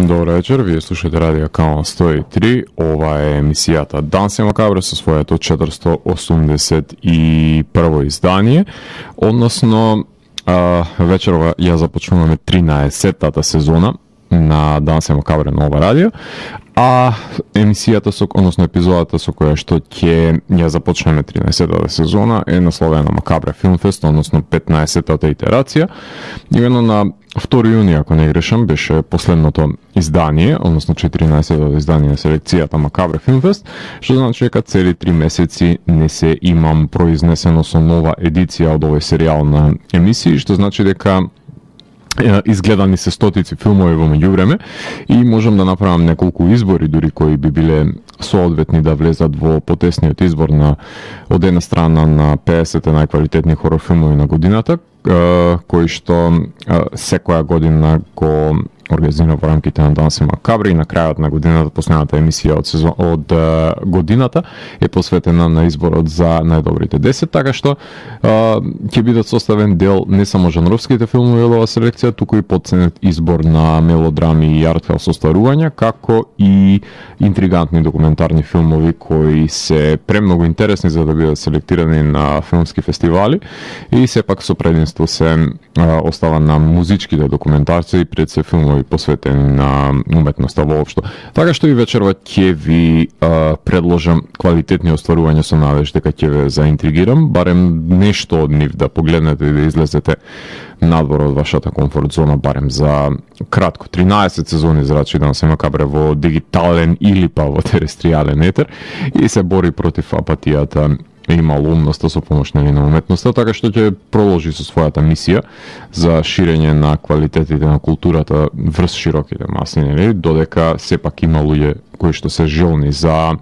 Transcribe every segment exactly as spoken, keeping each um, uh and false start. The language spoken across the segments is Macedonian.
Добро вечер, вие слушате Радио Канал сто и три. Ова е емисијата Данси Макабре со своето четиристо осумдесет и прво издание, односно а, вечерова ја започнуваме тринаесеттата сезона на Данси Макабре на ова радио, а емисијата со, односно епизодата со која што ќе ја започнеме тринаесеттата сезона е насловена Макабре Филмфест, односно петнаесеттата итерација. Именно на втори јуни, ако не грешам, беше последното издание, односно четиринаесеттото издание на селекцијата Макабре Филмфест, што значи дека цели три месеци не се имам произнесено со нова едиција од овој серијал на емисии, што значи дека изгледани се стотици филмови во меѓувреме и можам да направам неколку избори дури кои би биле соодветни да влезат во потесниот избор на од една страна на педесет најквалитетни хорор филмови на годината, кои што секоја година го организира во рамките на Данси Макабре и на крајот на годината, последната емисија од сезон од uh, годината е посветена на изборот за најдобрите десет, така што uh, ќе бидат составен дел не само жанровските филмови од оваа селекција, туку и подценет избор на мелодрами и артхаус остварувања, како и интригантни документарни филмови кои се премногу интересни за да бидат селектирани на филмски фестивали и сепак со прединство се uh, остава на музичките документарци пред се филмови посветени на уметноста воопшто. Така што и вечерва ќе ви а, предложам квалитетни остварувања со надеж дека ќе ве заинтригирам, барем нешто од нив да погледнете и да излезете надвор од вашата комфорт зона, барем за кратко. тринаесет сезони зрачи Данси Макабре во дигитален или па во терестријален етер и се бори против апатијата и малоумноста со помош на уметноста, така што ќе продолжи со својата мисија за ширење на квалитетите на културата врз широките маси, нели, додека сепак има луѓе кои што се желни за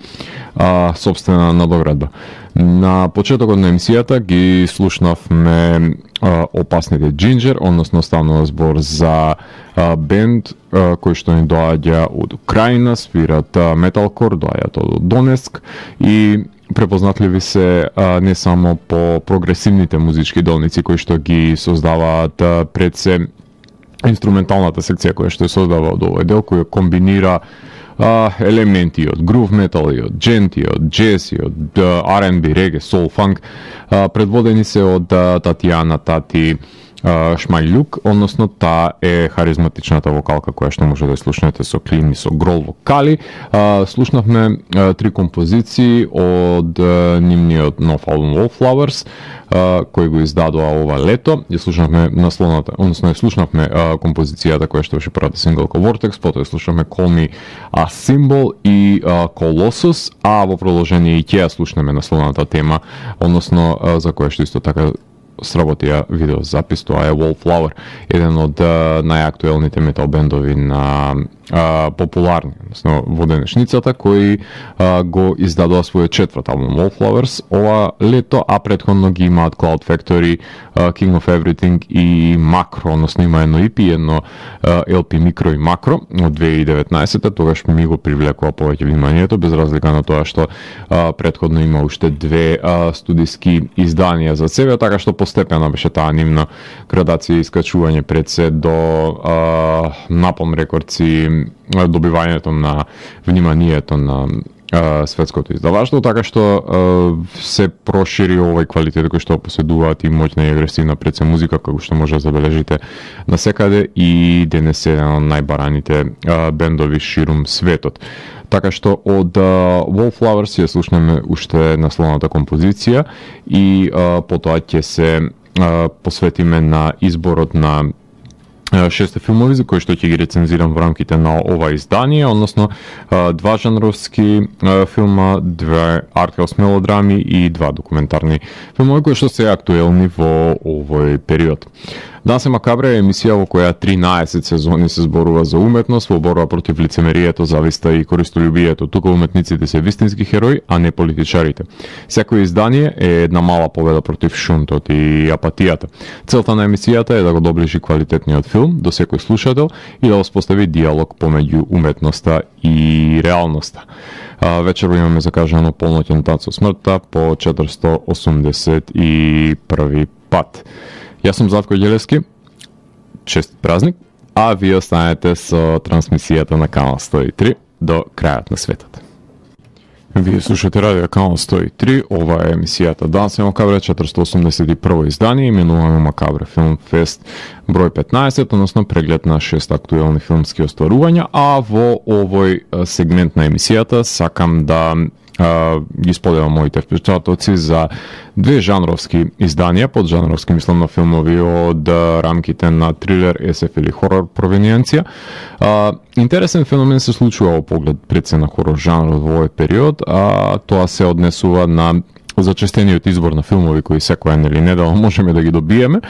а, собствена надоградба. На почетокот на емисијата ги слушнавме а, Опасните Джинџер, односно станува збор за а, бенд а, кој што ни доаѓа од Украина, свират металкор, доаѓаат од Донецк и препознатливи се а, не само по прогресивните музички долници кои што ги создаваат а, пред се инструменталната секција која што се создава од овој дел, која комбинира а, елементи од грув метал и од джент и од джез и од ар енд би, реге, сол, фанк, а, предводени се од а, Татјана Тати Шмајлјук, односно таа е харизматичната вокалка која што може да ја слушнете со клин и со грол вокали. А, слушнавме а, три композиции од а, нивниот нов албум Wallflowers, а, кој го издадоа ова лето. Ја слушнавме насловната, односно ја слушнавме а, композицијата која што беше првата синглка Vortex, потоа ја слушнавме Call Me a Symbol и а, Colossus, а во продолжение и ќе ја слушнеме насловната тема, односно а, за која што исто така сработија видео запис, тоа е Wallflower, еден од uh, најактуелните метал бендови на uh, популарни, односно во денешницата, кои uh, го издадоа својот четврт албум Wallflowers ова лето, а претходно ги имаат Cloud Factory, uh, King of Everything и Macro, односно има едно и пи, едно uh, ел пи Micro и Macro од две илади и деветнаесетта, тогаш ми го привлекува повеќе вниманието, без разлика на тоа што uh, претходно има уште две uh, студиски изданија за себе, така што постепено беше таа нивна градација и искачување пред се до а, Napalm Records и добивањето на вниманието на а, светското издаваштво, така што а, се прошири овој квалитет кој што поседуваат и моќна и агресивна пред се музика, како што може да забележите насекаде и денес е еден од најбараните а, бендови ширум светот. Така што од uh, Wallflowers ја слушнеме уште насловната композиција и uh, потоа ќе се uh, посветиме на изборот на шесте филмови за кои што ќе ги рецензирам во рамките на ова издание, односно два жанровски филма, две артхаус мелодрами и два документарни филмови кои што се актуелни во овој период. Данси Макабре е емисија во која тринаесет сезони се зборува за уметност, во борба против лицемерието, зависта и користолюбието. Тука уметниците се вистински херои, а не политичарите. Секој издание е една мала победа против шунтот и апатијата. Целта на емисијата е да го доближи квалитетниот филм до секој слушател и да воспостави диалог помеѓу уметноста и реалноста. А, вечерво имаме закажано Полноќен танц со смртта по четиристо осумдесет и први пат. Јас сум Златко Ѓелевски, честит празник, а вие останете со трансмисијата на Канал сто и три до крајот на светот. Вие слушате радио Канал сто и три, ова е емисијата Данс е Макабре, четиристо осумдесет и прво издание, именувано Макабре Филм Фест број петнаесет, односно преглед на шест актуелни филмски остварувања, а во овој сегмент на емисијата сакам да Uh, ги споделам моите впечатоци за две жанровски изданија, поджанровски мислам на филмови од uh, рамките на трилер, ес еф или хорор провениенција. Uh, интересен феномен се случува во поглед пред се на хорор жанрот во овој период, а тоа се однесува на зачестениот избор на филмови кои секоја нели недела можеме да ги добиеме,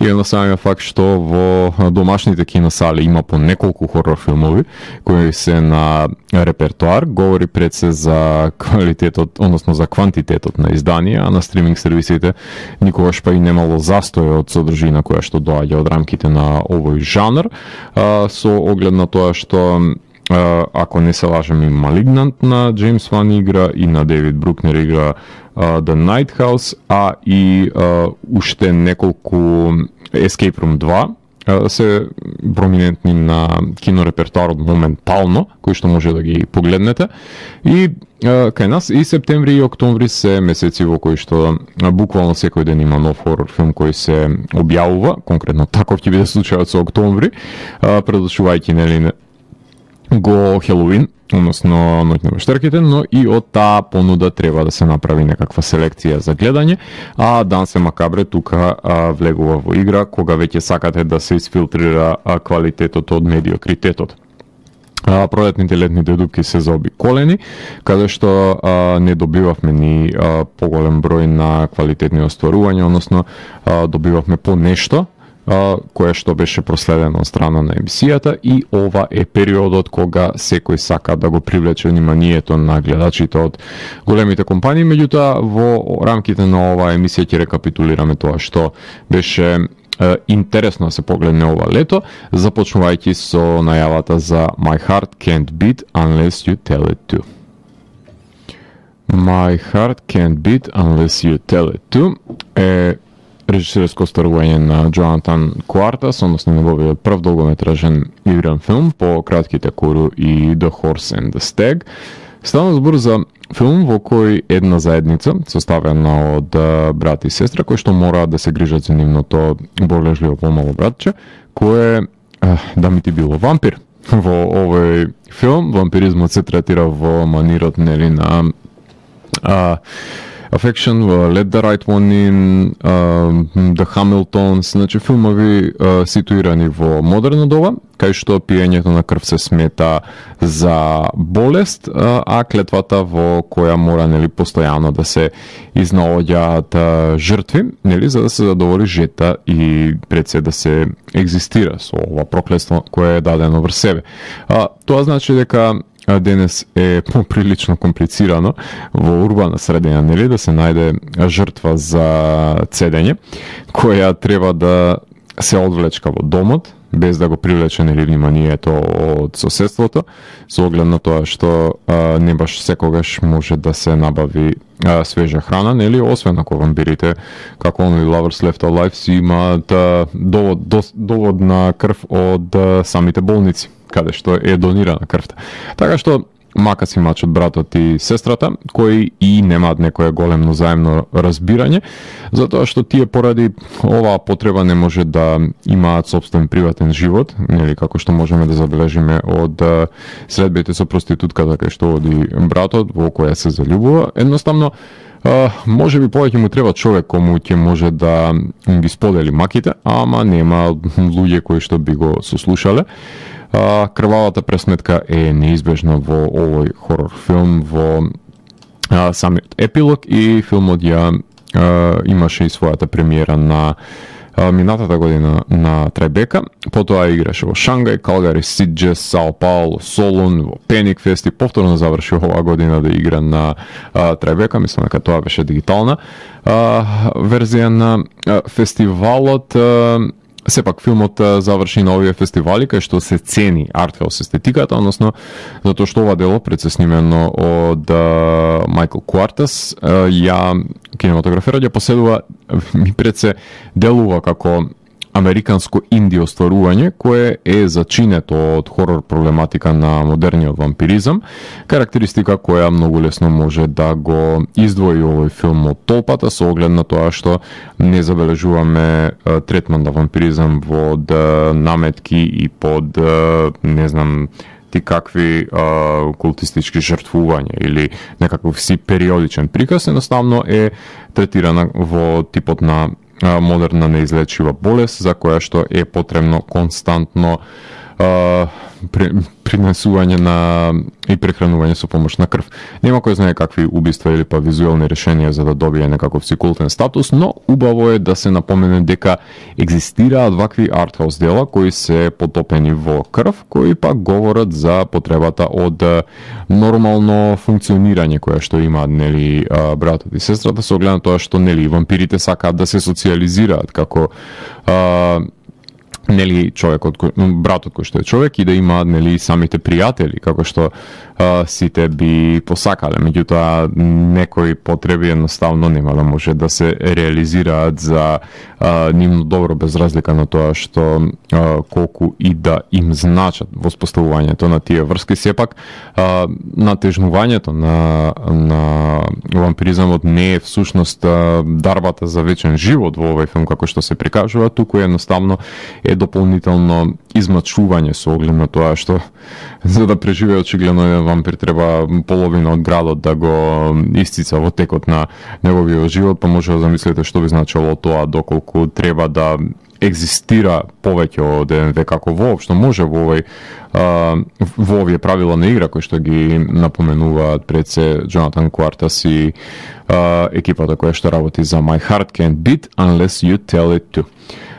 и на самиот факт што во домашните киносали има по неколку хорор филмови кои се на репертоар, говори пред се за квалитетот, односно за квантитетот на изданија, а на стриминг сервисите никогаш па и немало застој од содржина која што доаѓа од рамките на овој жанр, а, со оглед на тоа што Uh, ако не се лажам, и Малигнант на Джеймс Ван игра, и на Девид Брукнер игра uh, The Night House, а и uh, уште неколку Escape Room два uh, се проминентни на кинорепертуарот моментално, кои што може да ги погледнете. И uh, кај нас и септември и октомври се месеци во кои што uh, буквално секој ден има нов хорор филм кој се објавува, конкретно таков ќе биде случајот со октомври, uh, предочувајќи нели го Хелоуин, односно Ноќ на вештарките, но и од таа понуда треба да се направи некаква селекција за гледање, а Данс е Макабре тука а, влегува во игра кога веќе сакате да се изфилтрира а, квалитетот од медиокритетот. А, пролетните летните дупки се заобиколени, каде што а, не добивавме ни а, поголем број на квалитетни остварувања, односно а, добивавме по нешто, кое што беше проследено од страна на емисијата, и ова е периодот кога секој сака да го привлече вниманието на гледачите од големите компании. Меѓутоа, во рамките на оваа емисија ќе рекапитулираме тоа што беше е, интересно да се погледне ова лето, започнувајќи со најавата за My Heart Can't Beat Unless You Tell It To. My Heart Can't Beat Unless You Tell It To е режисерско остварување на Джонатан Куартас, односно неговиот прв долгометражен игран филм по кратките Кору и The Horse and the Stag. Стана збор за филм во кој една заедница, составена од брат и сестра, кои што мораат да се грижат за нивното болежливо помало братче, кое да ми ти било вампир. Во овој филм вампиризмот се третира во манирот нели на а, Affection, Let the Right One In, uh, The Hamiltons, значи филмови uh, ситуирани во модерно доба, кај што пиењето на крв се смета за болест, uh, а клетвата во која мора нели постојано да се изнаоѓаат uh, жртви, нели за да се задоволи жета и пред се да се екзистира со ова проклетство кое е дадено врз себе. Uh, тоа значи дека денес е поприлично комплицирано во урбана средина, нели, да се најде жртва за цедење, која треба да се одвлечка во домот, без да го привлече нели вниманието од соседството, со оглед на тоа што а, не баш секогаш може да се набави а, свежа храна, нели, освен ако вампирите, како оној Lovers Left Alive, си имаат довод, до, довод на крв од а, самите болници, каде што е донирана крвта. Така што мака си мачот братот и сестрата, кои и немаат некое големно заемно разбирање, затоа што тие поради оваа потреба не може да имаат собствен приватен живот, нели како што можеме да забележиме од средбите со проститутката кај што оди братот, во која се заљубува. Едноставно, Uh, може би повеќе му треба човек кому ќе може да ги сподели маките, ама нема луѓе кои што би го сослушале. Uh, крвавата пресметка е неизбежна во овој хорор филм, во uh, самиот епилог, и филмот ја uh, имаше и својата премиера на минатата година на Трајбека, потоа играше во Шангај, Калгари, Сидже, Сао Пауло, Солун, во Пеник Фест и повторно заврши оваа година да игра на а, Трајбека, мислам дека тоа беше дигитална а, верзија на а, фестивалот. А, Сепак филмот заврши на овие фестивали кај што се цени артхаус естетиката, односно затоа што ова дело пред се снимено од Майкл Куартас, ја кинематограферот ја поседува, ми пред се делува како американско инди остварување кое е зачинето од хорор проблематика на модерниот вампиризам, карактеристика која многу лесно може да го издвои овој филм од толпата со оглед на тоа што не забележуваме третман на вампиризам во наметки и под не знам ти какви а, култистички жртвувања или некаков си периодичен приказ, едноставно е третирана во типот на а, модерна неизлечива болест за која што е потребно константно а, принесување на и прехранување со помош на крв. Нема кој знае какви убиства или па визуелни решенија за да добие некаков си култен статус, но убаво е да се напомене дека екзистираат вакви артхаус дела кои се потопени во крв, кои пак говорат за потребата од нормално функционирање која што имаат нели братот и сестрата, со оглед на тоа што нели вампирите сакаат да се социализираат како а, нели човекот кој, братот кој што е човек и да имаат нели самите пријатели како што а, сите би посакале, меѓутоа некои потреби едноставно нема да може да се реализираат за а, нивно добро без разлика на тоа што а, колку и да им значат воспоставувањето на тие врски. Сепак а, натежнувањето на на вампиризмот не е всушност а, дарбата за вечен живот во овој филм како што се прикажува, туку едноставно е дополнително измачување со оглед на тоа што за да преживее очигледно еден вампир треба половина од градот да го исцица во текот на неговиот живот, па може да замислите што би значило тоа доколку треба да екзистира повеќе од еден век, како воопшто може во овој а, во овие правила на игра кои што ги напоменуваат пред се Джонатан Квартас и а, екипата која што работи за My Heart Can't Beat Unless You Tell It To.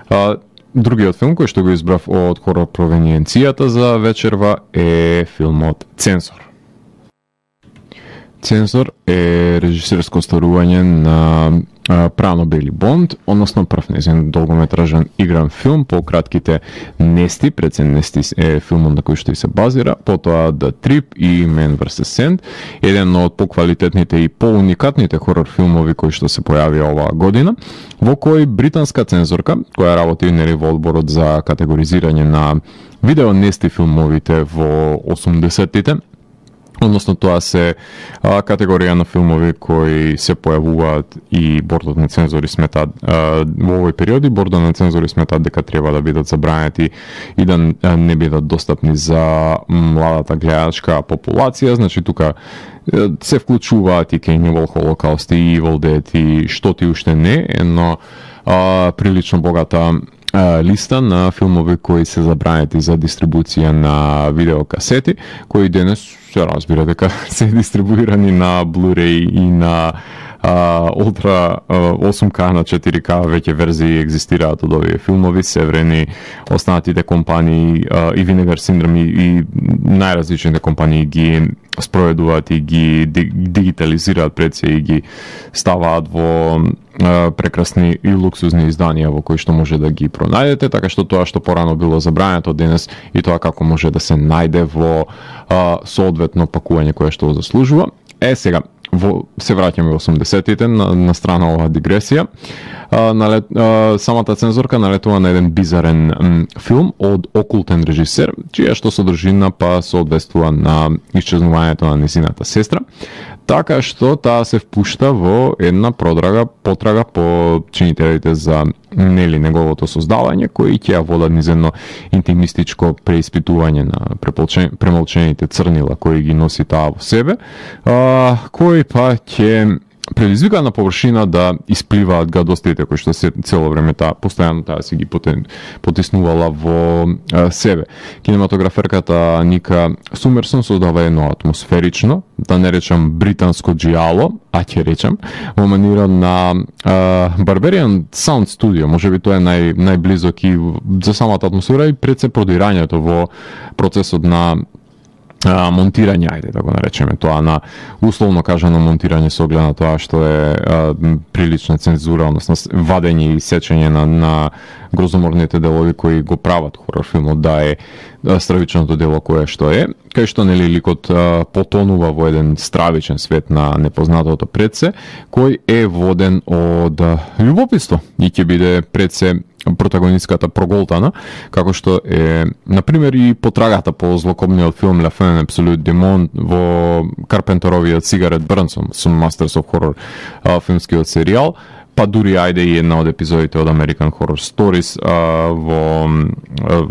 А, Другиот филм кој што го избрав од хорор провениенцијата за вечерва е филмот Цензор. Цензор е режисерско остварување на Прано Бели Бонд, односно прв нејзин долгометражен игран филм по кратките Нести, пред се Нести е филмот на кој што и се базира, потоа The Trip и Man версус. Sand, еден од поквалитетните и поуникатните хорор филмови кои што се појави оваа година, во кој британска цензорка, која работи нели во одборот за категоризирање на видео Нести филмовите во осумдесеттите, односно тоа се а, категорија на филмови кои се појавуваат и бордот на цензори сметаат а, во овој период и бордот на цензори сметаат дека треба да бидат забранети и да не бидат достапни за младата гледачка популација. Значи тука се вклучуваат и Cannibal Holocaust и Evil Dead и што ти уште не, но а, прилично богата листа на филмови кои се забранети за дистрибуција на видеокасети, кои денес се разбира дека се дистрибуирани на Blu-ray и на Uh, Ultra uh, осум К на четири К веќе верзии екзистираат од овие филмови, севрени останатите компании uh, и Vinegar Syndrome и, и најразличните компании ги спроведуваат и ги дигитализираат пред се и ги ставаат во uh, прекрасни и луксузни изданија во кои што може да ги пронајдете, така што тоа што порано било забрането денес и тоа како може да се најде во uh, соодветно пакување кое што го заслужува. Е, сега, во, се враќаме во осумдесеттите на, на страна оваа дигресија. А, налет, а, самата цензорка налетува на еден бизарен м, филм од окултен режисер, чија што содржина па соодветствува на исчезнувањето на незината сестра, така што таа се впушта во една продрага, потрага по чинителите за нели неговото создавање, кои ќе ја водат низ едно интимистичко преиспитување на премолчените црнила кои ги носи таа во себе, а, кои па ќе предизвика на површина да испливаат гадостите кои што се цело време таа постојано таа си ги потиснувала во а, себе. Кинематограферката Ника Сумерсон создава едно атмосферично, да не речам британско джиало, а ќе речам, во манира на а, Barbarian Sound Studio, можеби тоа е нај најблизок и за самата атмосфера и пред се продирањето во процесот на А, монтирање, ајде да го наречеме тоа, на условно кажано монтирање со оглед на тоа што е а, прилична цензура, односно вадење и сечење на, на грозоморните делови кои го прават хорор филмот да е а, стравичното дело кое што е, кај што нели ликот а, потонува во еден стравичен свет на непознатото пред се, кој е воден од а, љубопитство и ќе биде пред се протагонистката проголтана, како што е, например, и потрагата по злокобниот филм La Fin Absolute Demon во Карпентеровиот Cigarette Burns со Masters of Horror а, филмскиот серијал, па дури ајде и една од епизодите од American Horror Stories а, во, а,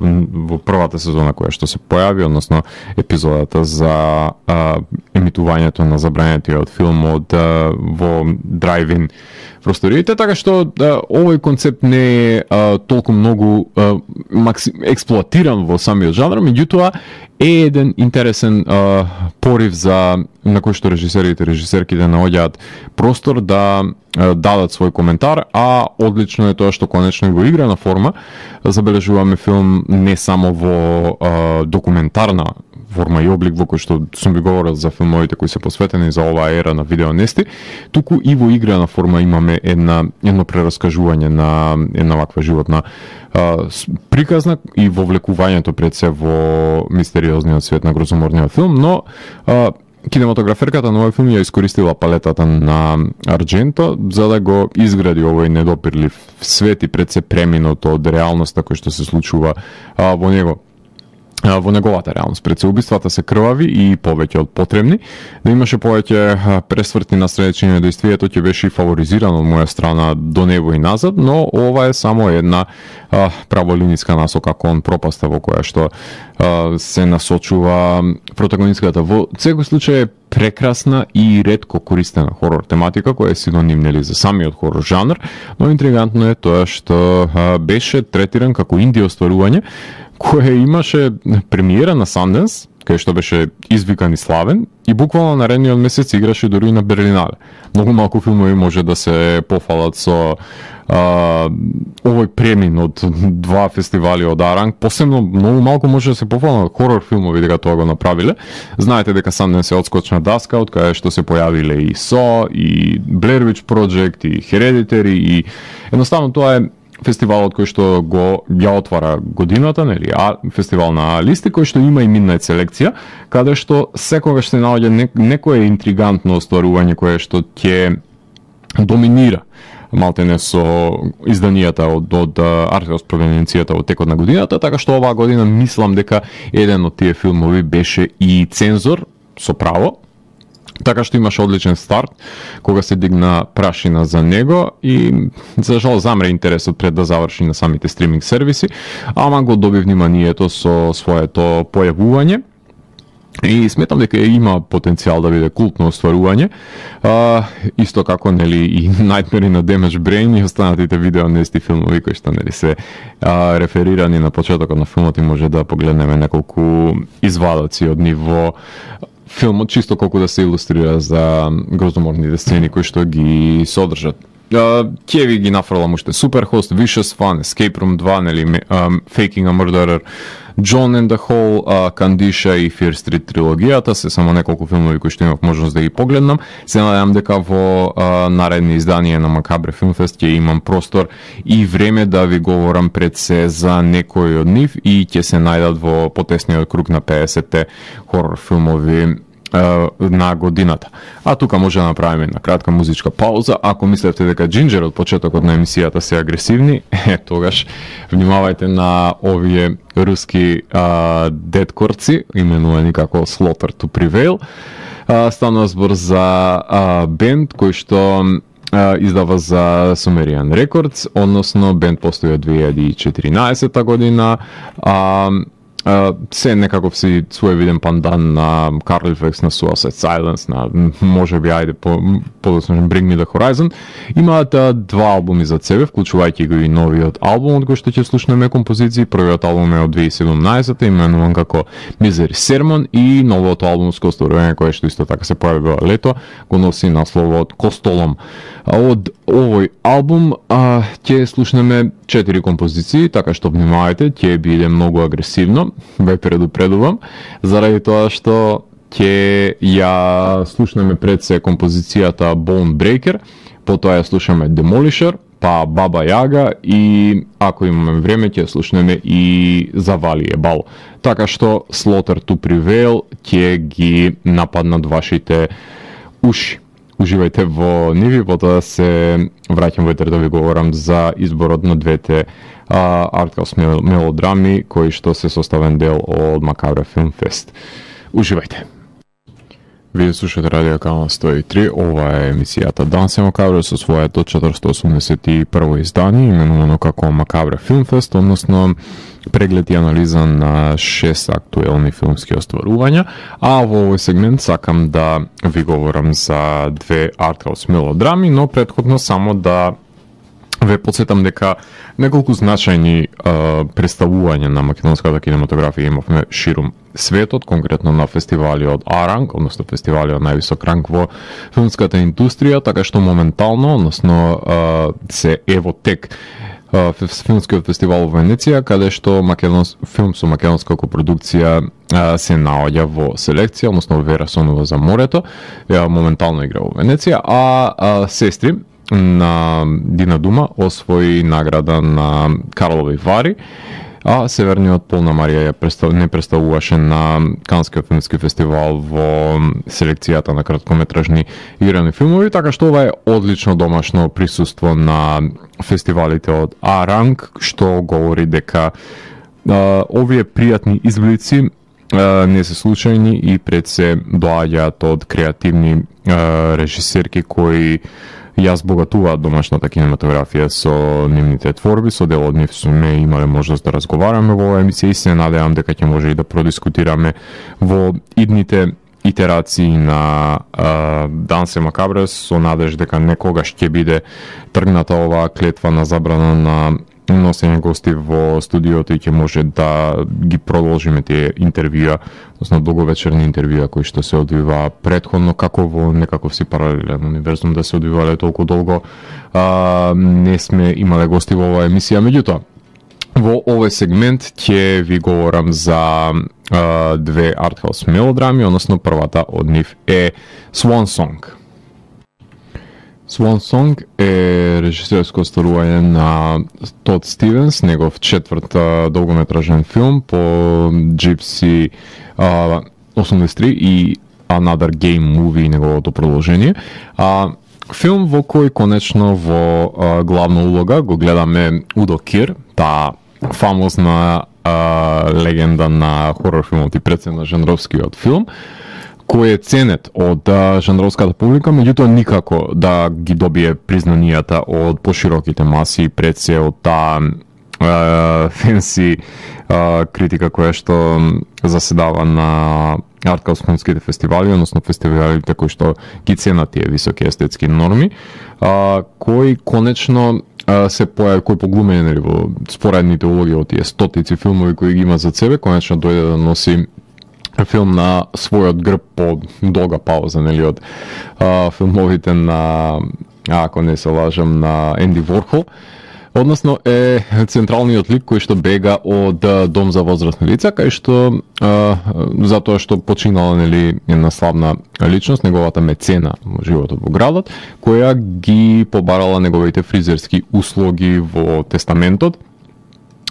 во првата сезона која што се појави, односно епизодата за а, емитувањето на забранетиот филм од а, во драйв-ин просториите, така што да, овој концепт не е а, толку многу а, макси, експлоатиран во самиот жанр, меѓутоа е еден интересен а, порив за на кој што режисерите и режисерките наоѓаат простор да а, дадат свој коментар, а одлично е тоа што конечно во играна форма забележуваме филм не само во а, документарна форма и облик во кој што сум ви говорил за филмовите кои се посветени за оваа ера на видеонести, туку и во играна форма имаме една едно прераскажување на една ваква животна а, приказна и вовлекувањето пред се во мистериозниот свет на грозоморниот филм, но а, кинематограферката на овој филм ја искористила палетата на Ардженто за да го изгради овој недопирлив свет и пред се преминато од реалноста кој што се случува а, во него. Во неговата реалност. Пред се убиствата се крвави и повеќе од потребни. Да имаше повеќе пресврти на средечење действието ќе беше и фаворизирано од моја страна до него и назад, но ова е само една а, праволиниска насока кон пропаста во која што а, се насочува протагонистката. Во секој случај е прекрасна и ретко користена хорор тематика која е синоним нели за самиот хорор жанр, но интригантно е тоа што а, беше третиран како инди остварување кое имаше премиера на Sundance, кај што беше извикан и славен, и буквално наредниот месец играше дури и на Берлинале. Многу малку филмови може да се пофалат со а, овој премин од два фестивали од Аранг, посебно многу малку може да се пофалат хорор филмови дека тоа го направиле. Знаете дека Sundance е одскочна даска од кај што се појавиле и Saw, и Blair Witch Project, и Hereditary, и едноставно тоа е фестивалот кој што го ја отвара годината, нели, а фестивал на листи кој што има и Midnight селекција, каде што секогаш се наоѓа не, некое интригантно остварување кое што ќе доминира малтене со изданијата од, од Артхаус провинцијата во текот на годината, така што оваа година мислам дека еден од тие филмови беше и Цензор, со право, така што имаше одличен старт кога се дигна прашина за него и за жал замре интересот пред да заврши на самите стриминг сервиси, ама го доби вниманието со своето појавување и сметам дека има потенцијал да биде култно остварување, а, исто како нели и Nightmare in a Damaged Brain и останатите видеонести филмови кои што нели се а, реферирани на почетокот на филмот и може да погледнеме неколку извадоци од ниво филмот, чисто колку да се илустрира за грозоморните сцени кои што ги содржат. Ќе ви ги нафрлам уште Superhost, Vicious Fun, Escape Room два, нели, um, Faking a Murderer, John and the Hole, uh, Candicia и Fear Street трилогијата, се само неколку филмови кои што имав можност да ги погледнам. Се надевам дека во uh, наредни изданија на Макабре Филмфест ќе имам простор и време да ви говорам пред се за некои од нив и ќе се најдат во потесниот круг на педесетте хорор филмови на годината. А тука може да направиме една кратка музичка пауза. Ако мислевте дека Джинџер од почетокот на емисијата се агресивни, е, тогаш внимавајте на овие руски а, дедкорци, именувани како Slaughter to Prevail. А, станува збор за а, бенд кој што а, издава за Sumerian Records, односно бенд постои од две илјади и четиринаесетта година, а Uh, се некаков си своевиден пандан на Carlifex, на Suicide Silence, на може би ајде по подоцна Bring Me the Horizon. Имаат uh, два албуми за себе, вклучувајќи го и новиот албум од кој што ќе слушнеме композиции. Првиот албум е од две илјади и седумнаесетта, именуван како Misery Sermon, и новото албумско остварување кое што исто така се појави во лето, го носи насловот Костолом. Од овој албум uh, ќе слушнеме четири композиции, така што внимавајте, ќе биде многу агресивно. Ве предупредувам, заради тоа што ќе ја слушнеме пред се композицијата Bone Breaker, потоа ја слушаме Demolisher, па Баба Јага и ако имаме време ќе слушнеме и Завалие Бал. Така што Slaughter to Prevail ќе ги нападнат вашите уши. Уживајте во нив и потоа се враќам во етер да ви говорам за изборот на двете артхаус мелодрами кои што се составен дел од Макабра Филм Фест. Уживајте. Вие слушате Радио Канал сто и три, ова е емисијата Данс е Макабра со своето четиристо осумдесет и прво издание, именувано како Макабра Филм Фест, односно преглед и анализа на шест актуелни филмски остварувања, а во овој сегмент сакам да ви говорам за две артхаус мелодрами, но претходно само да ве подсетам дека неколку значајни а, представувања на македонската кинематографија имавме ширум светот, конкретно на фестивали од А-ранг, односно фестивали од највисок ранг во филмската индустрија, така што моментално, односно а, се ево тек а, филмскиот фестивал во Венеција, каде што македонс... филм со македонска копродукција а, се наоѓа во селекција, односно Вера Сонова за морето, ја моментално игра во Венеција, а, а сестри на Дина Дума освои награда на Карлови Вари, а Северниот пол на Марија ја представ... не представуваше на Канскиот филмски фестивал во селекцијата на краткометражни играни филмови, така што ова е одлично домашно присуство на фестивалите од А-ранг, што говори дека а, овие пријатни изблици а, не се случајни и пред се доаѓаат од креативни а, режисерки кои ја збогатуваат домашната кинематографија со нивните творби, со дел од нив сме имале можност да разговараме во оваа емисија и се надевам дека ќе може и да продискутираме во идните итерации на а, Данс е Макабра со надеж дека некогаш ќе биде тргната оваа клетва на забрана на носење гости во студиото и ќе може да ги продолжиме тие интервјуа, односно долговечерни интервјуа кои што се одвива претходно, како во некаков си паралелен универзум да се одвивале толку долго. А, не сме имале гости во оваа емисија, меѓутоа во овој сегмент ќе ви говорам за а, две артхаус мелодрами, односно првата од нив е Swan Song. Swan Song е режисерско остварување на Тод Стивенс, негов четврт долгометражен филм по Gypsy uh, осумдесет и три и Another Game Movie, неговото продолжение. А, филм во кој конечно во а, главна улога го гледаме Удо Кир, таа фамозна а, легенда на хорор филмот и пред се на жанровскиот филм, кој е ценет од а, жанровската публика, меѓутоа никако да ги добие признанијата од пошироките маси пред се од таа фенси критика која што заседава на артхаус филмските фестивали, односно фестивалите кои што ги ценат тие високи естетски норми, а, кои конечно а, се појави, кои поглумени нели во споредните улоги од тие стотици филмови кои ги има за себе, конечно дојде да носи филм на својот грб по долга пауза, нели, од а, филмовите на, ако не се лажам, на Енди Ворхол. Односно е централниот лик кој што бега од дом за возрастни лица, кај што а, затоа што починала нели една славна личност, неговата мецена во животот во градот, која ги побарала неговите фризерски услуги во тестаментот,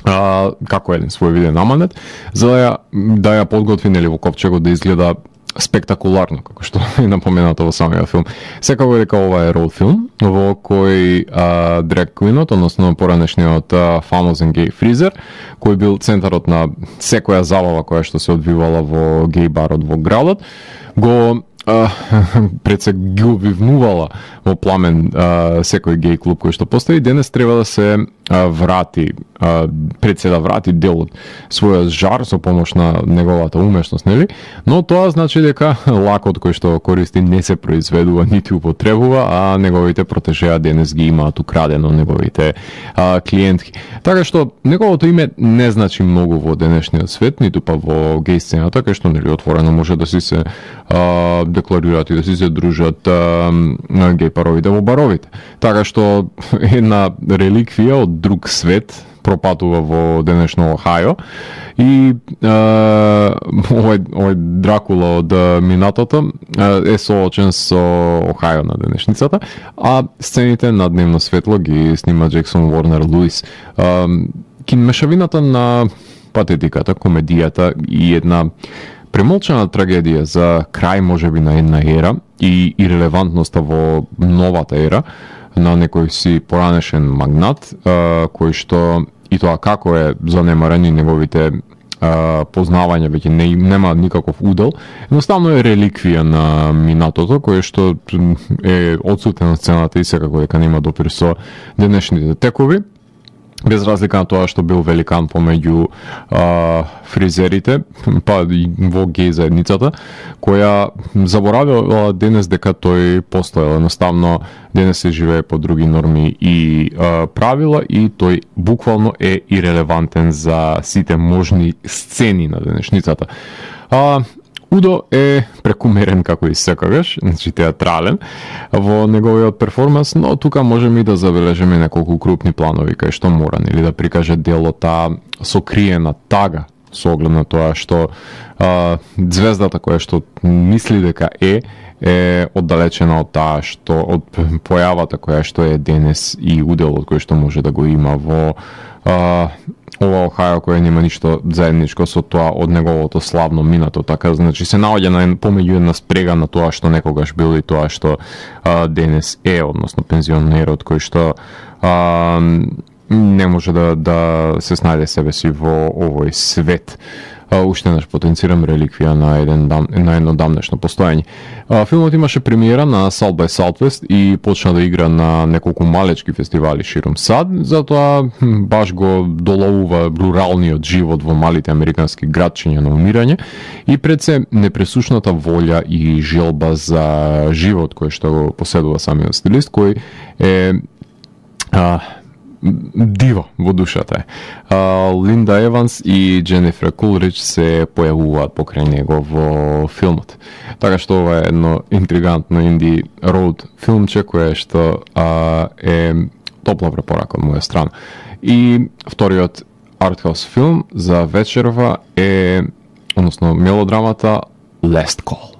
а, како еден свој виден аманет, за да ја, да ја подготви нели во ковчегот да изгледа спектакуларно, како што е напоменато во самиот филм. Секако дека ова е роуд филм, во кој а, драг квинот, односно поранешниот а, фамозен гей фризер, кој бил центарот на секоја забава која што се одвивала во гей барот во градот, го Uh, пред се ги обвивнувала во пламен uh, секој гей клуб кој што постои, денес треба да се uh, врати, uh, пред се да врати дел од својот жар со помош на неговата умешност, нели? Но тоа значи дека лакот кој што користи не се произведува нити употребува, а неговите протежеа денес ги имаат украдено неговите uh, клиентки. Така што неговото име не значи многу во денешниот свет, ниту па во гей сцената, кај што нели отворено може да си се uh, декларираат и да си се дружат а, на гей паровите во баровите. Така што една реликвија од друг свет пропатува во денешно Охајо и а, овој, овој Дракула од минатото а, е соочен со Охајо на денешницата, а сцените на Дневно светло ги снима Джексон Уорнер Луис. А, кинмешавината на патетиката, комедијата и една премолчана трагедија за крај можеби на една ера и ирелевантноста во новата ера на некој си поранешен магнат, а, кој што и тоа како е занемарен и неговите а, познавања веќе не, нема никаков удел, едноставно е реликвија на минатото, кое што е одсутен на сцената и секако дека нема допир со денешните текови. Без разлика на тоа што бил великан помеѓу а, фризерите, па и во геј заедницата, која заборавила денес дека тој постоел. Едноставно, денес се живее по други норми и а, правила и тој буквално е ирелевантен за сите можни сцени на денешницата. А, Удо е прекумерен како и секогаш, значи театрален во неговиот перформанс, но тука можеме и да забележиме неколку крупни планови кај што мора нели да прикаже делота сокриена тага со оглед на тоа што а, звездата која што мисли дека е е оддалечена од таа што од појавата која што е денес и уделот кој што може да го има во а, ова Охајо кој нема ништо заедничко со тоа од неговото славно минато, така значи се наоѓа на помеѓу една спрега на тоа што некогаш бил и тоа што а, денес е, односно пензионерот кој што а, не може да, да се снајде себе си во овој свет. Uh, уште наш потенцирам реликвија на еден дам, на едно дамнешно постоење. Uh, филмот имаше премиера на South by Southwest и почна да игра на неколку малечки фестивали широм САД, затоа баш го доловува руралниот живот во малите американски градчиња на умирање и пред се непресушната волја и желба за живот кој што го поседува самиот стилист, кој е uh, диво во душата е. Линда Еванс и Дженифер Кулрич се појавуваат покрај него во филмот. Така што ова е едно интригантно инди роуд филмче кое што а, е топла препорака од моја страна. И вториот артхаус филм за вечерва е, односно мелодрамата Last Call.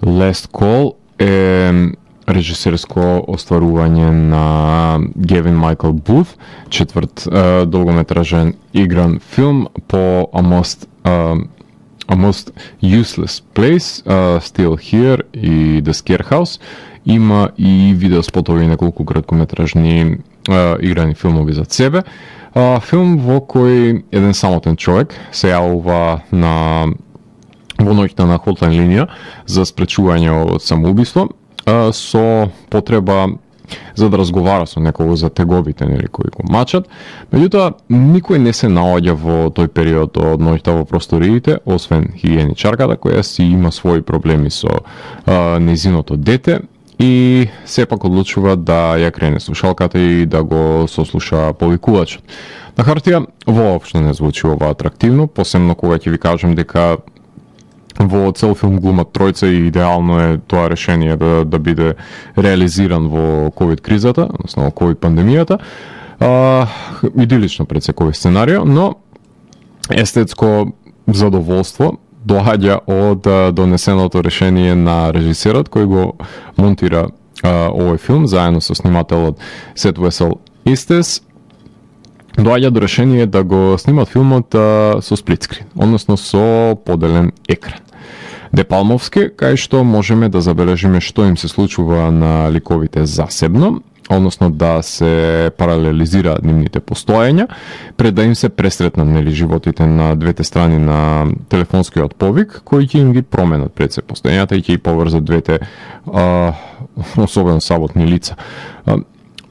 Last Call е режисерско остварување на Гевин Майкл Бут, четврт uh, долгометражен игран филм по A Most, uh, A Most Useless Place, uh, Still Here и The Scarehouse. Има и видеоспотови и неколку краткометражни uh, играни филмови за себе. Uh, филм во кој еден самотен човек се јавува на во ноќта на хотлайн линија за спречување од самоубиство, со потреба за да разговара со некого за теговите нели кои го мачат. Меѓутоа никој не се наоѓа во тој период од ноќта во просториите, освен хигиеничарката која си има своји проблеми со а, незиното дете и сепак одлучува да ја крене слушалката и да го сослуша повикувачот. На хартија воопшто не звучи ова атрактивно, посебно кога ќе ви кажам дека во цел филм глумат тројца и идеално е тоа решение да, да биде реализиран во ковид кризата, односно во ковид пандемијата. А, идилично пред секој сценарио, но естетско задоволство доаѓа од донесеното решение на режисерот кој го монтира а, овој филм заедно со снимателот Сет Весел Истес. Доаѓа до решение да го снимат филмот а, со сплитскрин, односно со поделен екран. Депалмовски, кај што можеме да забележиме што им се случува на ликовите засебно, односно да се паралелизираат нивните постоења, пред да им се пресретнат нели животите на двете страни на телефонскиот повик, кои ќе им ги променат пред се постоењата и ќе ги поврзат двете а, особено саботни лица. А,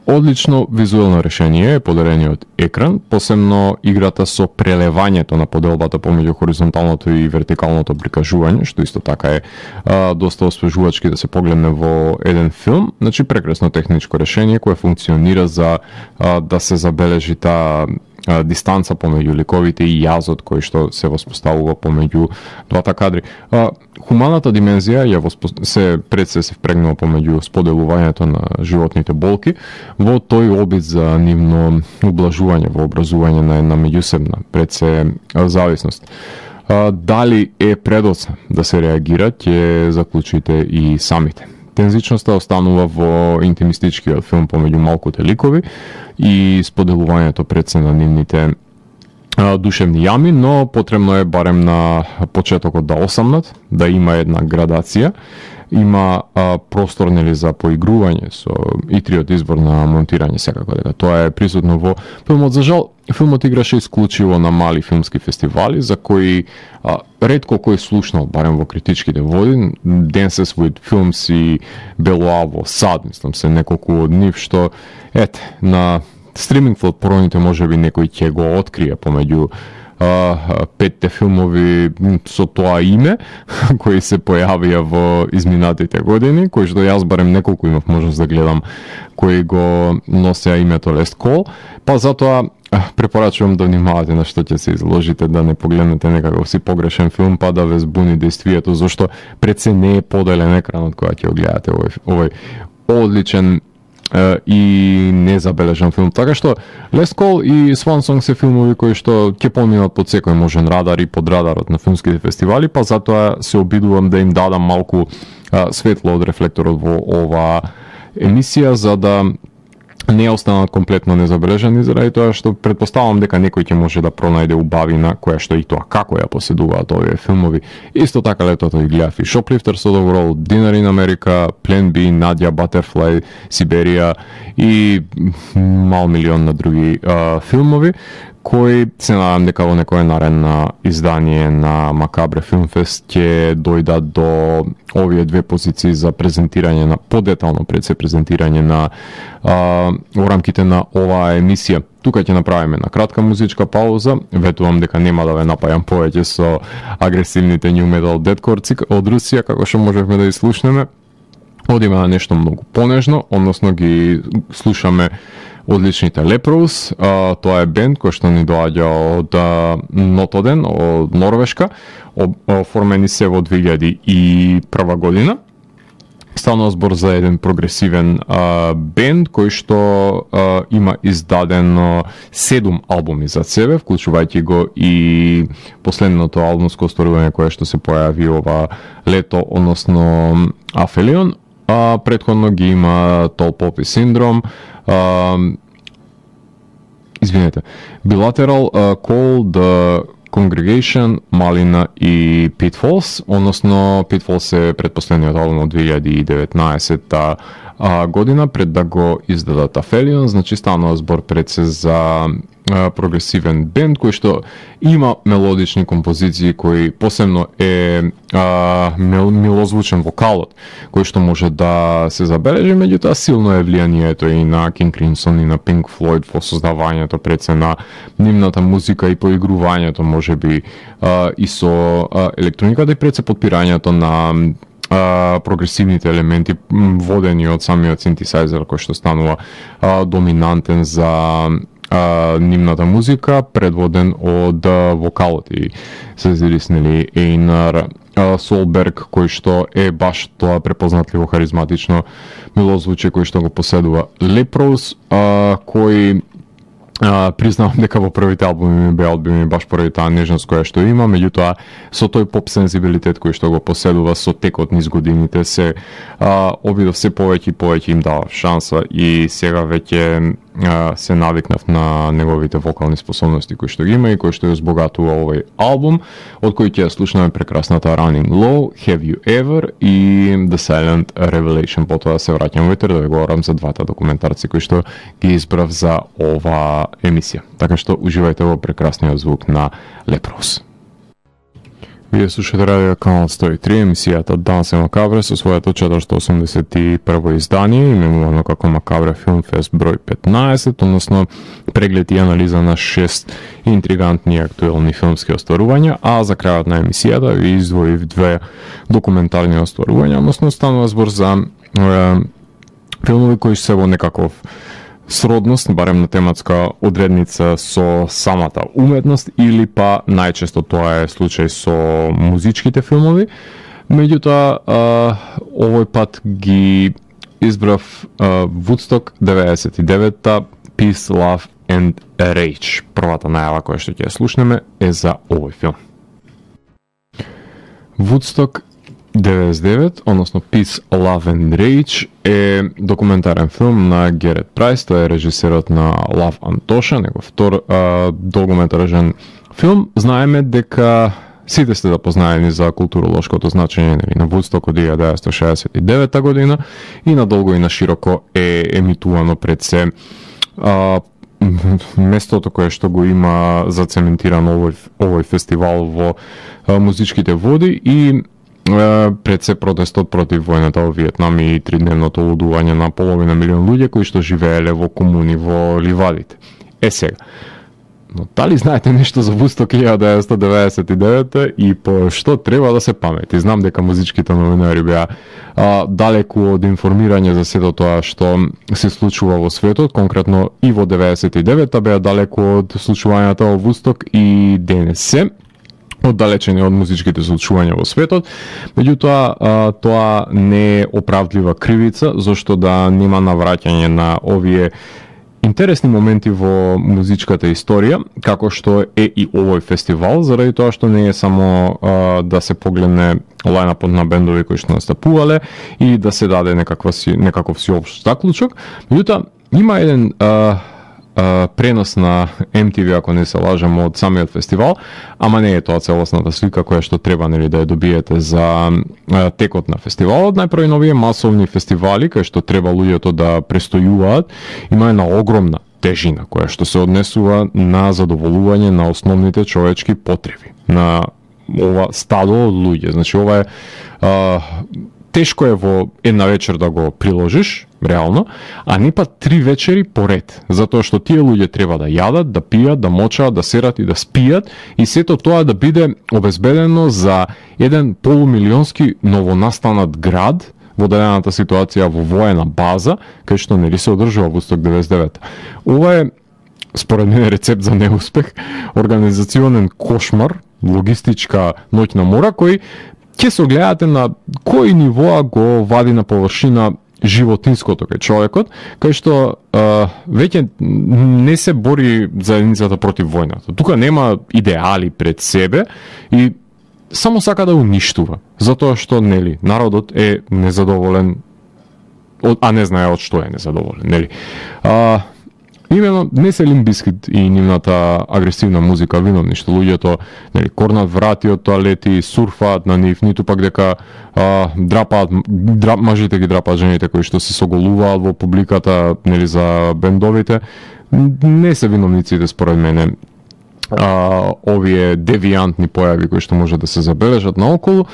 Одлично визуелно решение е подарениот екран, посебно играта со прелевањето на поделбата помеѓу хоризонталното и вертикалното прикажување, што исто така е а, доста освежувачки да се погледне во еден филм. Значи прекрасно техничко решение кое функционира за а, да се забележи таа дистанца помеѓу ликовите и јазот кој што се воспоставува помеѓу двата кадри. А, хуманата димензија ја воспо... се пред се се впрегнува помеѓу споделувањето на животните болки во тој обид за нивно ублажување во образување на една меѓусебна пред се зависност. А, дали е предоца да се реагира, ќе заклучите и самите. Тензичноста останува во интимистичкиот филм помеѓу малкуте ликови и споделувањето пред се на нивните а, душевни јами, но потребно е барем на почетокот да осамнат, да има една градација, има а, простор нели за поигрување со итриот избор на монтирање, секако дека тоа е присутно во филмот. За жал, филмот играше исклучиво на мали филмски фестивали, за кои а, ретко кој слушнал, барем во критичките води. Dances with Films и Белоа во САД, мислам се неколку од нив, што ете, на стриминг платформите можеби некој ќе го открие помеѓу Uh, петте филмови со тоа име кои се појавија во изминатите години, кои што јас барем неколку имав можност да гледам, кои го носеа името Last Call, па затоа препорачувам да внимавате на што ќе се изложите, да не погледнете некаков си погрешен филм па да ве збуни действието, зашто пред се не е поделен екранот кога ќе го гледате овој, овој одличен и незабележан филм. Така што Last Call и Swan Song се филмови кои што ќе поминат под секој можен радар и под радарот на филмските фестивали, па затоа се обидувам да им дадам малку а, светло од рефлекторот во оваа емисија, за да не останат комплетно незабележани, заради тоа што предпоставам дека некој ќе може да пронајде убавина која што и тоа како ја поседуваат овие филмови. Исто така летото и гледав и Shoplifters of the World, Dinner in America, Plan B, Nadia, Butterfly, Сиберија и мал милион на други а, филмови, кои се надам дека во некое наредно издание на Макабре Филмфест ќе дојдат до овие две позиции за презентирање на подетално пред се презентирање на а, во рамките на оваа емисија. Тука ќе направиме на кратка музичка пауза. Ветувам дека нема да ве напајам повеќе со агресивните new metal deathcore од Русија, како што можевме да изслушнеме. Одиме на нешто многу понежно, односно ги слушаме одличните Leprous. А, тоа е бенд кој што ни доаѓа од Нотоден, од Норвешка. Оформени се во две илјади и прва година. Станува збор за еден прогресивен а, бенд кој што а, има издадено седум албуми за себе, вклучувајќи го и последното албумско остварување кое што се појави ова лето, односно Афелион. А, предходно ги има Tall Poppy Syndrome, а, извинете, Bilateral, uh, Call, The Congregation, Малина и Pitfalls, односно Pitfalls е предпоследниот албум од две илјади и деветнаесетта година, пред да го издадат Афелион. Значи станува збор пред се за а, прогресивен бенд кој што има мелодични композиции, кој посебно е а, мил, милозвучен вокалот, кој што може да се забележи, меѓутоа силно е влијанието и на King Crimson и на Pink Floyd во создавањето пред се на нивната музика и поигрувањето можеби а, и со а, електрониката и пред се подпирањето на Uh, прогресивните елементи водени од самиот синтесайзер кој што станува uh, доминантен за uh, нивната музика, предводен од uh, вокалот и се зириснели Einar uh, Solberg, кој што е баш тоа препознатливо харизматично милозвучие кој што го поседува Leprous, uh, кој Uh, признавам дека во првите албуми ми беа одбивени баш поради таа нежност која што има, меѓутоа со тој поп сензибилитет кој што го поседува со текот низ годините се uh, обидов се повеќе и повеќе им дава шанса и сега веќе uh, се навикнав на неговите вокални способности кои што ги има и кои што ја збогатува овој албум, од кој ќе ја слушнеме прекрасната Running Low, Have You Ever и The Silent Revelation. Потоа се враќам во етер да ви говорам за двата документарци кои што ги избрав за ова емисија. Така што уживајте во прекрасниот звук на Leprous. Вие слушате радио канал сто и три, емисијата Дансе Макабре со својато четиристо осумдесет и прво издание, именувано како Макабре Филмфест број петнаесет, односно преглед и анализа на шест интригантни и актуелни филмски остварувања, а за крајот на емисијата ви издвоив две документарни остварувања, односно станува збор за е, филмови кои се во некаков сродност, барем на тематска одредница со самата уметност или па најчесто тоа е случај со музичките филмови. Меѓутоа, овој пат ги избрав а, Woodstock деветдесет и деветта, Peace, Love and Rage. Првата најава која што ќе ја слушнеме е за овој филм. Woodstock деветдесет и девет, односно Peace, Love and Rage е документарен филм на Герет Прайс, тој е режисерот на Лав Антоша, негов втор а, долгометражен филм. Знаеме дека сите сте да познаени за културолошкото значење нели, на Вудсток од илјада деветстотини шеесет и девета година и надолго и на широко е емитувано пред се а, местото кое што го има зацементирано овој, овој фестивал во а, музичките води и а, пред се протестот против војната во Виетнам и тридневното лудување на половина милион луѓе кои што живееле во комуни во ливадите. Е сега, но дали знаете нешто за Вудсток илјада деветстотини деветдесет и девета и по што треба да се памети? Знам дека музичките новинари беа а, далеку од информирање за сето тоа што се случува во светот, конкретно и во деветдесет и девета беа далеку од случувањата во Вудсток и денес се оддалечени од музичките случувања во светот. Меѓутоа, тоа не е оправдлива кривица, зашто да нема навраќање на овие интересни моменти во музичката историја, како што е и овој фестивал, заради тоа што не е само а, да се погледне лајнапот на бендови кои што настапувале и да се даде некаква си, некаков сиопшт заклучок. Меѓутоа, има еден а, а, пренос на Ем Ти Ви, ако не се лажам, од самиот фестивал, ама не е тоа целосната слика која што треба нели да ја добиете за а, текот на фестивалот. Најпрво новие масовни фестивали кај што треба луѓето да престојуваат, има една огромна тежина која што се однесува на задоволување на основните човечки потреби на ова стадо од луѓе. Значи ова е а, тешко е во една вечер да го приложиш, реално, а не па три вечери поред, затоа што тие луѓе треба да јадат, да пијат, да мочаат, да серат и да спијат и сето тоа да биде обезбедено за еден полумилионски новонастанат град во дадената ситуација во воена база, кај што нели се одржува Вудсток деветдесет и девета. Ова е според мене рецепт за неуспех, организационен кошмар, логистичка ноќна мора кој ќе се огледате на кои нивоа го вади на површина животинското кај човекот, кај што а, веќе не се бори заедницата против војната. Тука нема идеали пред себе и само сака да уништува, затоа што нели народот е незадоволен, а не знае од што е незадоволен, нели. А, именно не се Лимп Бизкит и нивната агресивна музика виновни што луѓето нели корнат врати од тоалети, сурфаат на нив, ниту пак дека а, драпаат драп, мажите ги драпаат жените кои што се соголуваат во публиката нели за бендовите. Не се виновниците според мене а, овие девијантни појави кои што може да се забележат наоколу.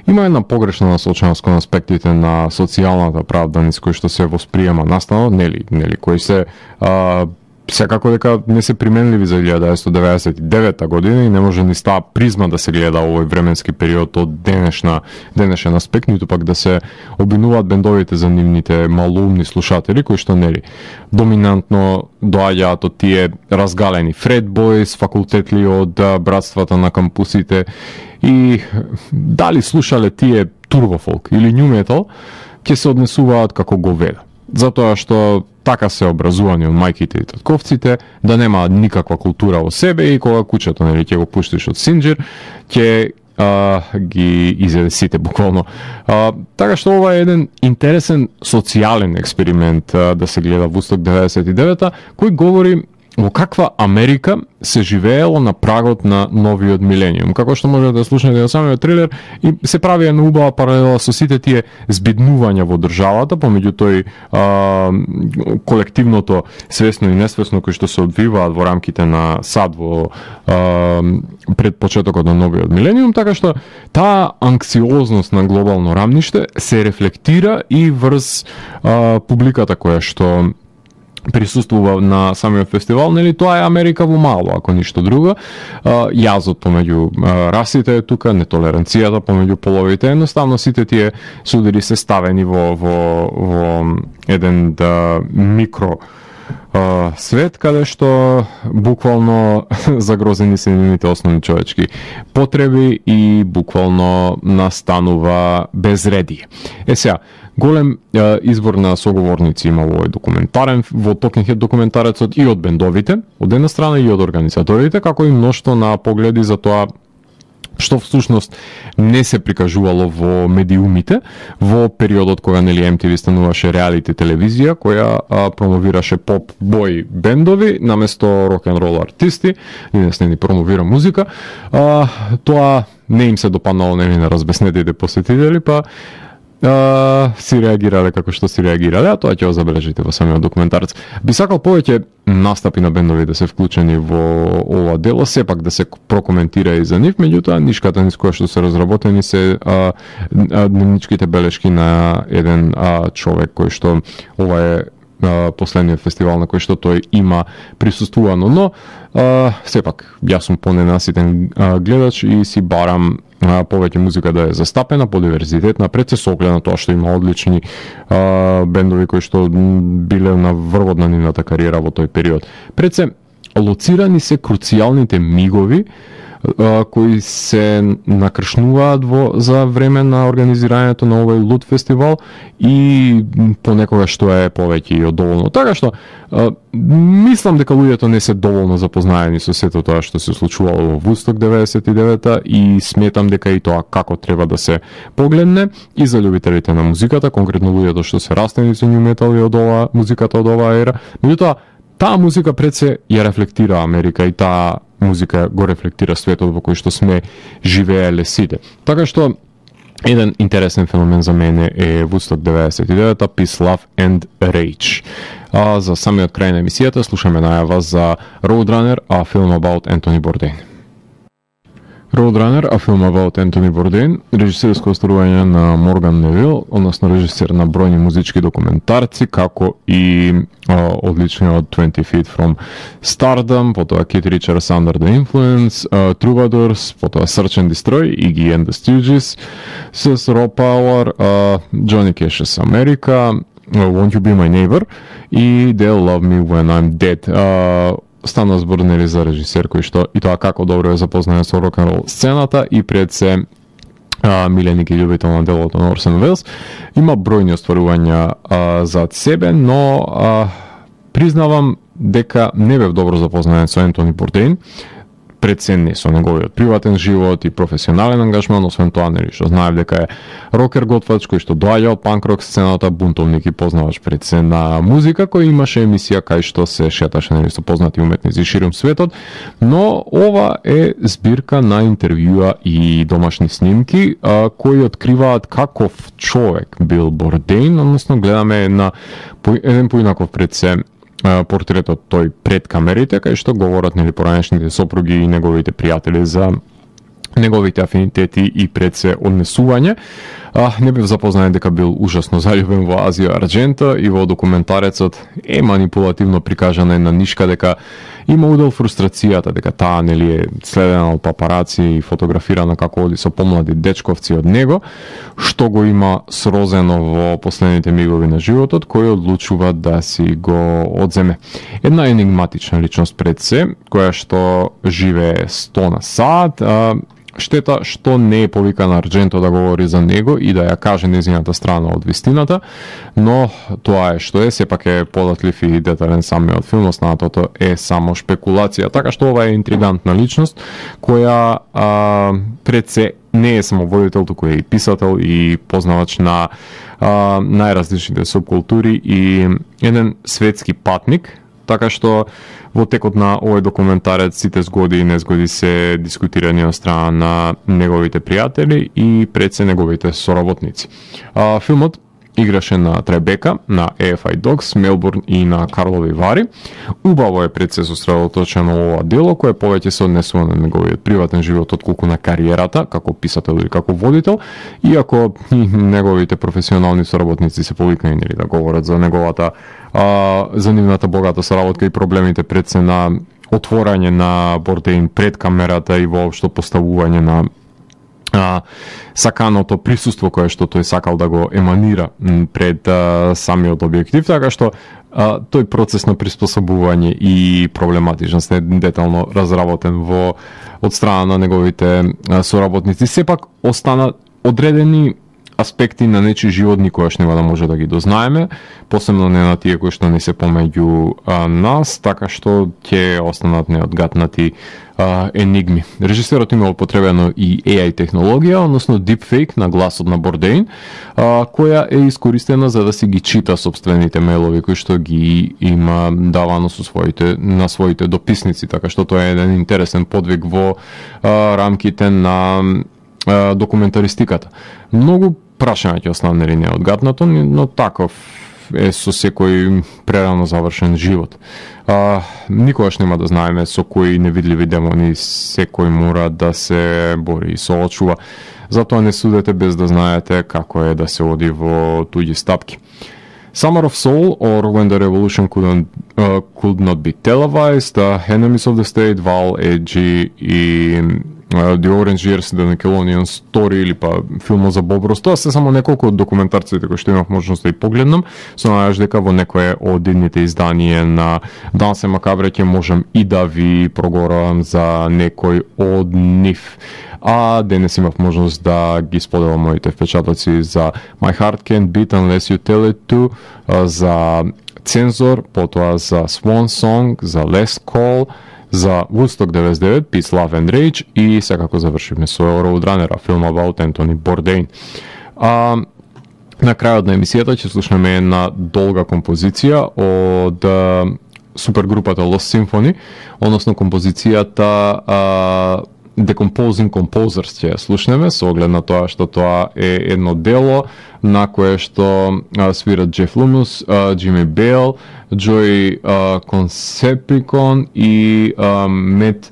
Има една погрешна насоченост кон аспектите на социјалната правда низ кои што се восприема настанот, нели, нели, кои се а, секако дека не се применливи за илјада деветстотини деветдесет и девета година и не може ни става призма да се гледа овој временски период од денешна денешен аспект, ниту пак да се обвинуваат бендовите за нивните малоумни слушатели кои што нели доминантно доаѓаат од тие разгалени Фред Бойс, факултетли од братствата на кампусите и дали слушале тие турбофолк или њу метал, ќе се однесуваат како говеда. Затоа што така се образувани од мајките и татковците, да нема никаква култура во себе и кога кучето нели ќе го пуштиш од синџир, ќе а, ги изеде сите буквално. А, така што ова е еден интересен социјален експеримент а, да се гледа Вудсток деветдесет и девета, кој говори во каква Америка се живеело на прагот на новиот милениум. Како што можете да слушнете на самиот трейлер, и се прави една убава паралела со сите тие збиднувања во државата, помеѓу тој а, колективното свесно и несвесно кои што се одвиваат во рамките на САД во а, пред почетокот на новиот милениум, така што таа анксиозност на глобално рамниште се рефлектира и врз а, публиката која што присуствува на самиот фестивал, нели тоа е Америка во мало, ако ништо друго. Јазот помеѓу расите е тука, нетолеранцијата помеѓу половите, едноставно сите тие судири се ставени во во во еден да, микро Uh, свет каде што буквално загрозени се нивните основни човечки потреби и буквално настанува безредие. Е сега, голем uh, избор на соговорници има во овој документарен, во Talking Head документарецот и од бендовите, од една страна и од организаторите, како и мноштво на погледи за тоа што всушност не се прикажувало во медиумите во периодот кога нели Ем Ти Ви стануваше реалити телевизија која а, промовираше поп бој бендови наместо рок н рол артисти, денес не ни промовира музика. А, тоа не им се допаднало нели на разбеснетите посетители, па Uh, си реагирале како што си реагирале, а тоа ќе го забележите во самиот документарец. Би сакал повеќе настапи на бендови да се вклучени во ова дело, сепак да се прокоментира и за нив, меѓутоа нишката низ која што се разработени се а, а, дневничките белешки на еден а, човек кој што ова е а, последниот фестивал на кој што тој има присуствувано, но а, сепак јас сум поненаситен а, гледач и си барам повеќе музика да е застапена, подиверзитетна, пред се соглед на тоа што има одлични а, бендови кои што биле на врвот на нивната кариера во тој период. Пред се лоцирани се круцијалните мигови а, кои се накршнуваат во за време на организирањето на овој лут фестивал и понекогаш што е повеќе и од доволно. Така што а, мислам дека луѓето не се доволно запознаени со сето тоа што се случувало во Вудсток деветдесет и девета и сметам дека и тоа како треба да се погледне и за љубителите на музиката, конкретно луѓето што се растени со нью метал и од ова музиката од оваа ера. Меѓутоа, таа музика пред се ја рефлектира Америка и таа музика го рефлектира светот во кој што сме живееле сите. Така што еден интересен феномен за мене е Woodstock деветдесет и девета, Peace, Love and Rage. А за самиот крај на емисијата слушаме најава за Roadrunner, а филм about Anthony Bourdain. Roadrunner, а филм about Anthony Bourdain, режисерско остварување на Морган Невил, односно режисер на бројни музички документарци, како и а, одличниот twenty feet from Stardom, потоа Keith Richards Under the Influence, а, Troubadours, потоа Search and Destroy, Iggy and the Stooges, с Raw Power, а, Johnny Cash's America, Won't You Be My Neighbor и They'll Love Me When I'm Dead. А, стана збор нели за режисер кој што и тоа како добро е запознаен со рок н рол сцената и пред се а, миленик и љубител на делото на Орсон Велс. Има бројни остварувања а, зад себе, но а, признавам дека не бев добро запознаен со Ентони Бордейн, пред се не со неговиот приватен живот и професионален ангажман, освен тоа нели што знаев дека е рокер готвач кој што доаѓа од панк рок сцената, бунтовник и познавач пред се на музика, кој имаше емисија кај што се шеташе нели со познати уметници ширум светот, но ова е збирка на интервјуа и домашни снимки а, кои откриваат каков човек бил Бордейн, односно гледаме на еден поинаков пред се портретот тој пред камерите, кај што говорат нели поранешните сопруги и неговите пријатели за неговите афинитети и пред се однесување. А, не бев запознаен дека бил ужасно заљубен во Азија Арџенто и во документарецот е манипулативно прикажана една нишка дека има удел фрустрацијата дека таа нели е следена од папараци и фотографирана како оди со помлади дечковци од него, што го има срозено во последните мигови на животот, кој одлучува да си го одземе. Една енигматична личност пред се, која што живее сто на сат, а, штета што не е повикан Арџенто да говори за него и да ја каже незината страна од вистината, но тоа е што е, сепак е податлив и детален самиот филм, останатото е само шпекулација, така што ова е интригантна личност која а, пред се не е само водител, туку е и писател и познавач на а, најразличните субкултури и еден светски патник, така што во текот на овој документарец сите згоди и незгоди се дискутирани од страна на неговите пријатели и пред се неговите соработници. А, филмот играше на Требека, на Ей Еф Ај Dogs, Мелбурн и на Карлови Вари. Убаво е пред се сосредоточено ова дело, кое повеќе се однесува на неговиот приватен живот отколку на кариерата, како писател или како водител, иако и неговите професионални соработници се повикани нели да говорат за неговата а, за нивната богата соработка и проблемите пред се на отворање на Бордейн пред камерата и воопшто поставување на а, саканото присуство кое што тој сакал да го еманира пред а, самиот објектив, така што а, тој процес на приспособување и проблематичност е детално разработен во од страна на неговите а, соработници. Сепак остана одредени аспекти на нечи живот никогаш нема да може да ги дознаеме, посебно не на тие кои што не се помеѓу а, нас, така што ќе останат неодгатнати а, енигми. Режисерот има употребено и Е Ај технологија, односно deepfake на гласот на Бордейн, а, која е искористена за да си ги чита собствените мейлови кои што ги има давано со своите на своите дописници, така што тоа е еден интересен подвиг во а, рамките на а, документаристиката. Многу прашања ќе останали неодгатнато, но таков е со секој прерано завршен живот. А, никогаш нема да знаеме со кои невидливи демони секој мора да се бори и соочува. Затоа не судете без да знаете како е да се оди во туѓи стапки. Summer of Soul, or When the Revolution Couldn't, uh, Could Not Be Televised, uh, Enemies of the State, Val, Edgy и uh, The Orange Years, The Nickelodeon Story или па филмот за Боб Рос. Тоа се само неколку од документарците кои што имав можност да и погледнам. Со најаш дека во некое од идните изданија на Дансе Макабре ќе можам и да ви проговорам за некој од нив. А денес имав можност да ги споделам моите впечатоци за My Heart Can't Beat Unless You Tell It To, за Цензор, потоа за Swan Song, за Last Call, за Woodstock деветдесет и девет, Peace, Love and Rage и секако завршивме со Roadrunner, филм about Anthony Bourdain. А, на крајот на емисијата ќе слушнеме една долга композиција од супергрупата Lost Symphony, односно композицијата а, Decomposing Composers ќе ја слушнеме, со оглед на тоа што тоа е едно дело на кое што а, свират Джеф Лумус, Джими Бейл, Джој Консеприкон и а, Мет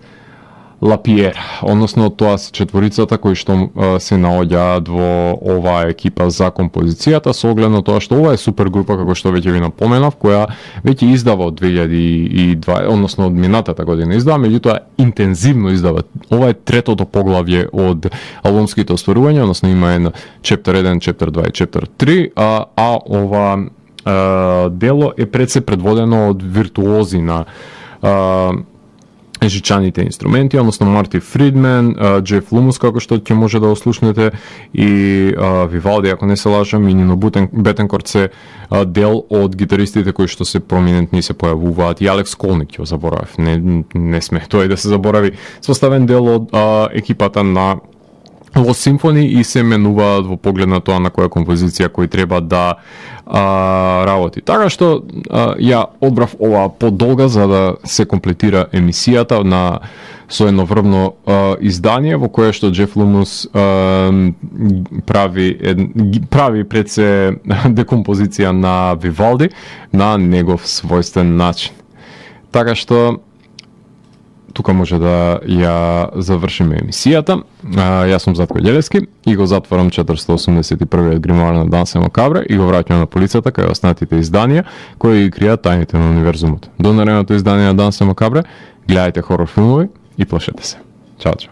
Лапиер, односно тоа се четворицата кои што а, се наоѓаат во оваа екипа за композицијата, со оглед на тоа што ова е супергрупа, како што веќе ви напоменав, која веќе издава од две илјади и дваесета, односно од минатата година издава, меѓутоа интензивно издава. Ова е третото поглавје од албумските остварувања, односно има едно Chapter еден, Chapter два и Chapter три, а, а ова а, дело е пред се предводено од виртуози на а, жичаните инструменти, односно Марти Фридмен, Джеф Лумус, како што ќе може да ослушнете, и а, Вивалди, ако не се лажам, и Нино Бетенкорт се а, дел од гитаристите кои што се проминентни се појавуваат, и Алекс Колник ќе заборавив, не, не сме тој да се заборави, составен дел од а, екипата на Lost Symphony и се менуваат во поглед на тоа на која композиција кој треба да а, работи. Така што а, ја одбрав ова подолга за да се комплетира емисијата на со едно врвно а, издание во кое што Джеф Лумус а, прави ед, прави пред се декомпозиција на Вивалди на негов својствен начин. Така што тука може да ја завршиме емисијата. А, јас сум Затко Ѓелевски и го затворам четиристотини осумдесет и првиот гримоар на Дансе Макабре и го враќам на полицата кај останатите изданија кои ги кријат тајните на универзумот. До наредното издание на Дансе Макабре, гледајте хорор филмови и плашете се. Чао, чао.